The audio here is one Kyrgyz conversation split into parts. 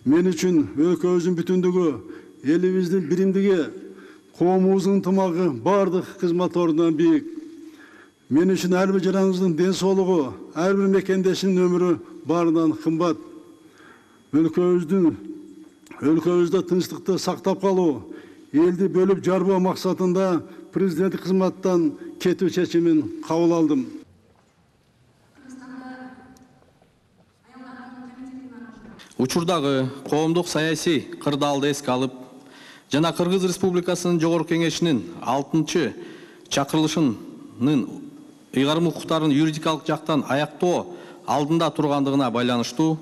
мен үчүн өлкөбүздүн бүтүндүгү, элибиздин биримдиги, коомубуздун ынтымагы бардык кызмат ордунан бийик. Мен үчүн ар бир жараңыздын ден соолугу, ар бир мекендештин өмүрү баарынан кымбат. Өлкөбүздө тынчтыкты сактап калуу, элди бөлүп жарбоо максатында президенттик кызматтан кетүү чечимин кабыл алдым. Учурдагы коомдук саясий кырдаалды эске алып, жана Кыргыз Республикасынын Жогорку Кеңешинин 6-чы чакырылышынын ыйгарым укуктарын юридикалык жактан аяктоо алдында тургандыгына байланыштуу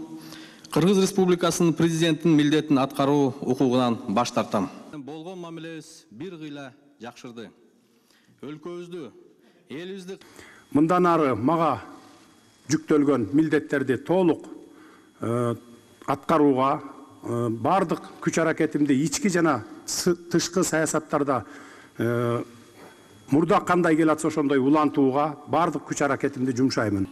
Кыргыз Республикасынын президентинин милдетин аткаруу укугунан баш тартам. Болгон мамилебиз бир кыйла жакшырды. Өлкөбүздү, элибизди мындан ары мага жүктөлгөн милдеттерди толук аткарууга, бардык күч аракетимди ички жана тышкы саясаттарда мурда кандай келатса ошондой улантууга бардык күч аракетимди жумшаймын.